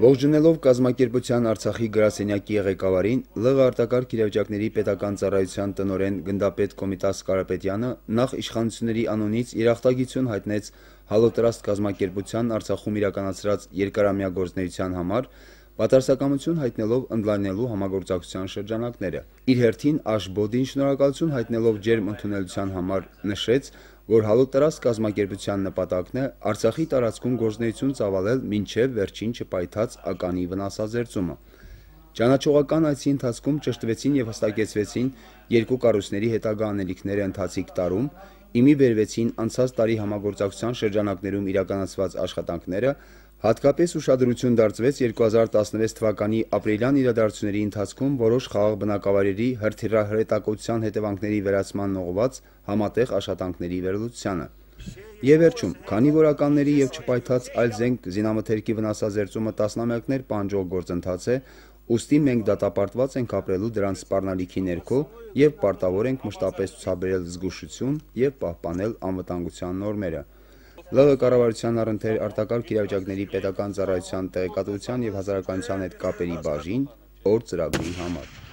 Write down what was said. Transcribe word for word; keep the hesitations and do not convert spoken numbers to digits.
Ողջունելով կազմակերպության Արցախի գրասենյակի ղեկավարին, ԼՂ արտակարգ իրավիճակների պետական ծառայության տնօրեն գնդապետ Կոմիտաս Կարապետյանը նախ իշխանությունների անունից երախտագիտություն հայտնեց Հալոտրաստ կազմակերպության Արցախում իրականացրած երկարամյա գործունեության համար, պատասխանատվություն հայտնելով ընդլայնելու համագործակցության շրջանակները։ Իր հերթին Աշբոդին շնորհակալություն հայտնելով ջերմ ընդունելության համար նշեց, որ Հալոտրաստ կազմակերպության նպատակն է Արցախի տարածքում գործունեություն ծավալել մինչև վերջին չպայթած ականի վնասազերծումը։ Ճանաչողական այցի ընթացքում ճշտվեցին եւ հստակեցվեցին երկու կառույցների հետագա անելիքները ընթացիկ տարում, իմի բերվեցին անցած տարի համագործակցության շրջանակներում իրականացված աշխատանքները, հատկապես ուշադրություն դարձվեց երկու հազար տասնվեց թվականի ապրիլյան իրադարձությունների ընթացքում որոշ խաղաղ բնակավայրերի հրթիռահրետակոծության հետևանքների վերացմանն ուղղված համատեղ աշխատանքների վերլուծությանը։ Եվ վերջում, քանի որ ականների եւ չպայթած այլ զենք զինամթերքի վնասազերծումը տասնամյակներ պահանջող գործընթաց է, ուստի մենք դատապարտված ենք ապրելու դրանց սպառնալիքի ներքո եւ պարտավոր ենք մշտապես ցուցաբերել զգուշություն եւ պահպանել անվտանգության նորմերը։ ԼՂ կառավարության առընթեր արտակարգ իրավիճակների պետական ծառայության տեղեկատվության եւ հասարակայնության հետ կապերի բաժին օր ծրագրի համար։